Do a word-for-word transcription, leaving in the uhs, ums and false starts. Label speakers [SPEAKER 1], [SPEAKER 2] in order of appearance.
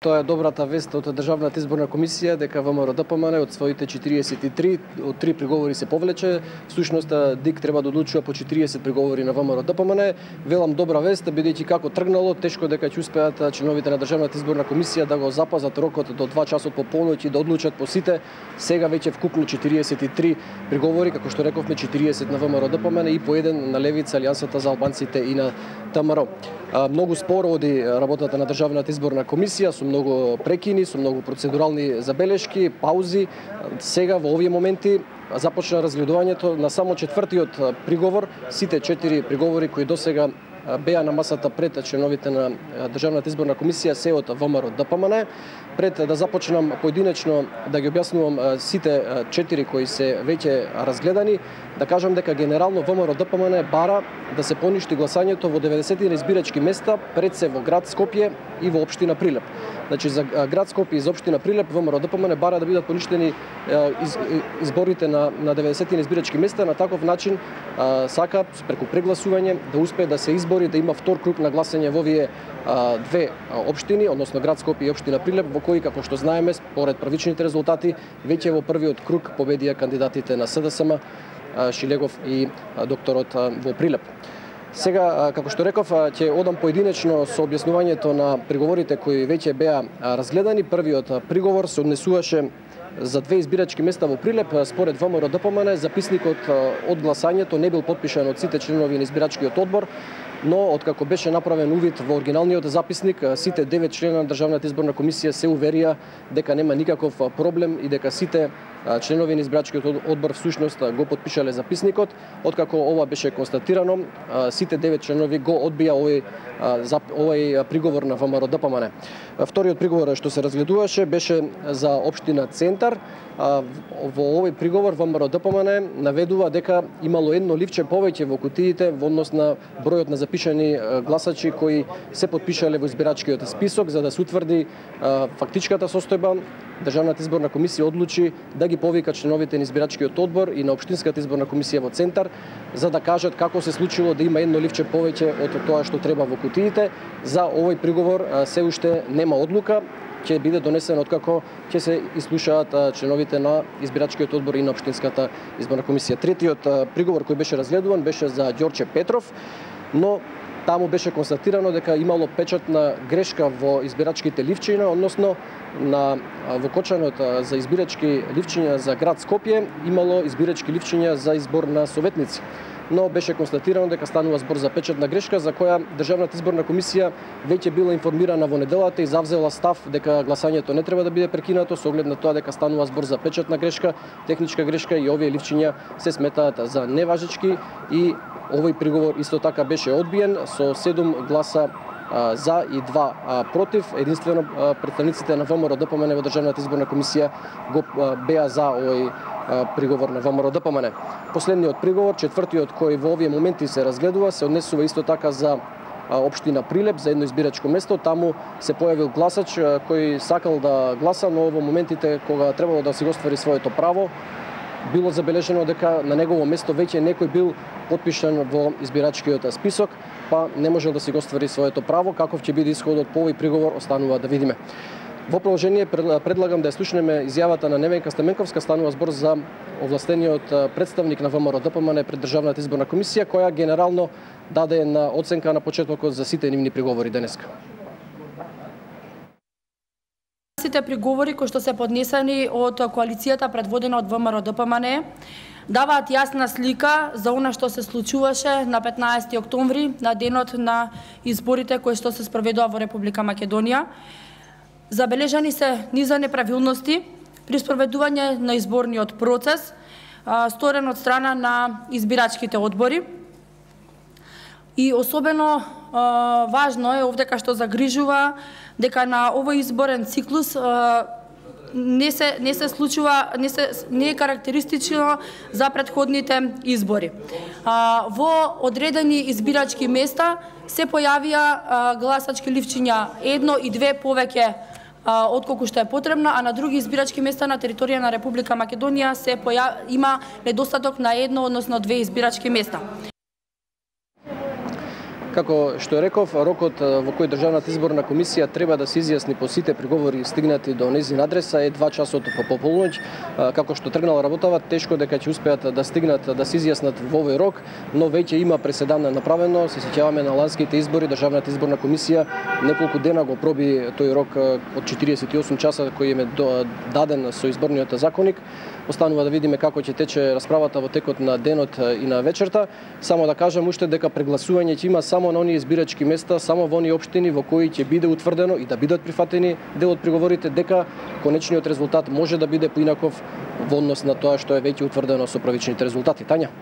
[SPEAKER 1] Тоа е добрата вест од Државната изборна комисија дека ВМРО-ДПМН од своите четириесет и три од три приговори се повлече. Всушност ДИК треба да одлучува по четириесет приговори на ВМРО-ДПМН. Велам добра вест, бидејќи како тргнало, тешко дека ќе успеат членовите на Државната изборна комисија да го запазат рокот до два часот по полноќ и да одлучат по сите. Сега веќе вкупно четириесет и три приговори, како што рековме, четириесет на ВМРО-ДПМН и по еден на Левица, Алијансата за албанците и на ВМРО. Многу споро оди работата на Државната изборна комисија, со многу прекини, со многу процедурални забелешки, паузи. Сега во овие моменти започна разгледувањето на само четвртиот приговор. Сите четири приговори кои досега беа на масата пред членовите на Државната изборна комисија се од ВМРО-ДПМН. Пред да започнам поединечно да ги објаснувам сите четири кои се веќе разгледани, да кажам дека генерално ВМРО-ДПМН бара да се поништи гласањето во деветдесет избирачки места, пред се во град Скопје и во општина Прилеп. Значи за град Скопје и за општина Прилеп ВМРО-ДПМН бара да бидат поништени из, изборите на на деветдесет избирачки места, на таков начин сака преку прегласување да успее да се избори, да има втор круг на гласање во овие две општини, односно град Скопје и општина Прилеп, во кои, како што знаеме, според првичните резултати, веќе во првиот круг победија кандидатите на СДСМ, Шилегов и докторот во Прилеп. Сега, како што реков, ќе одам поединечно со објаснувањето на приговорите кои веќе беа разгледани. Првиот приговор се однесуваше за две избирачки места во Прилеп. Според ВМРО-ДПМН записникот од гласањето не бил потпишан од сите членови на избирачкиот одбор, но откако беше направен увид во оригиналниот записник, сите девет члена на Државната изборна комисија се уверија дека нема никаков проблем и дека сите членови на избирачкиот одбор всушност го потпишале записникот. Откако ова беше констатирано, сите девет членови го одбија овој овој приговор на ВМРО-ДПМН. Вториот приговор што се разгледуваше беше за општина Центар. Во овој приговор ВМРО-ДПМН наведува дека имало едно ливче повеќе во кутиите во однос на бројот на запишани гласачи кои се потпишале во избирачкиот список. За да се утврди фактичката состојба, Државната изборна комисија одлучи да ги повика членовите на избирачкиот одбор и на општинската изборна комисија во Центар, за да кажат како се случило да има едно ливче повеќе од тоа што треба во кутиите. За овој приговор се уште нема одлука, ќе биде донесен откако ќе се ислушаат членовите на избирачкиот одбор и на општинската изборна комисија. Третиот приговор кој беше разгледуван беше за Ѓорче Петров, но таму беше констатирано дека имало печатна грешка во избирачките ливчиња, односно на во кочанот за избирачки ливчиња за град Скопје имало избирачки ливчиња за избор на советници. Но беше констатирано дека станува збор за печатна грешка, за која Државната изборна комисија веќе била информирана во неделата и завзела став дека гласањето не треба да биде прекинато со оглед на тоа дека станува збор за печатна грешка, техничка грешка и овие ливчиња се сметаат за неважечки и овој приговор исто така беше одбиен со седум гласа за и два против. Единствено представниците на ВМРО-ДПМН во Државната изборна комисија го беа за овој приговор на ВМРО-ДПМН. Последниот приговор, четвртиот кој во овие моменти се разгледува, се однесува исто така за општина Прилеп, за едно избирачко место. Таму се појавил гласач кој сакал да гласа, но во моментите кога требало да си го оствари своето право, било забележено дека на негово место веќе некој бил потпишан во избирачкиот список, па не можел да си го оствари своето право. Каков ќе биде исходот по овој приговор, останува да видиме. Во продолжение предлагам да ја слушнеме изјавата на Неменка Стаменковска. Станува збор за овластениот представник на ВМРО-ДПМН пред Државната изборна комисија, која генерално даде на оценка на почетокот за сите нивни приговори денеска.
[SPEAKER 2] Сите приговори кои што се поднесени од коалицијата предводена од ВМРО-ДПМН даваат јасна слика за она што се случуваше на петнаесети октомври, на денот на изборите кои што се спроведува во Република Македонија. Забележани се низа неправилности при спроведување на изборниот процес, сторен од страна на избирачките одбори. И особено важно е овдека што загрижува дека на овој изборен циклус не се не се случува не се не е карактеристично за претходните избори. Во одредени избирачки места се појавија гласачки ливчиња едно и две повеќе отколку што е потребно, а на други избирачки места на територија на Република Македонија се појав... има недостаток на едно, односно две избирачки места.
[SPEAKER 1] Како што реков, рокот во кој Државната изборна комисија треба да се изјасни по сите приговори стигнати до нејзин адреса е два часот по полноќ. Како што тргнала работава, тешко дека ќе успеат да стигнат да се изјаснат во овој рок, но веќе има преседан направено. Се сеќаваме на ланските избори, Државната изборна комисија неколку дена го проби тој рок од четириесет и осум часа кој им е даден со изборниот законник. Останува да видиме како ќе тече расправата во текот на денот и на вечерта. Само да кажам уште дека прегласување ќе има само на оние избирачки места, само во оние општини во кои ќе биде утврдено и да бидат прифатени дел од приговорите дека конечниот резултат може да биде поинаков во однос на тоа што е веќе утврдено со првичните резултати. Тања.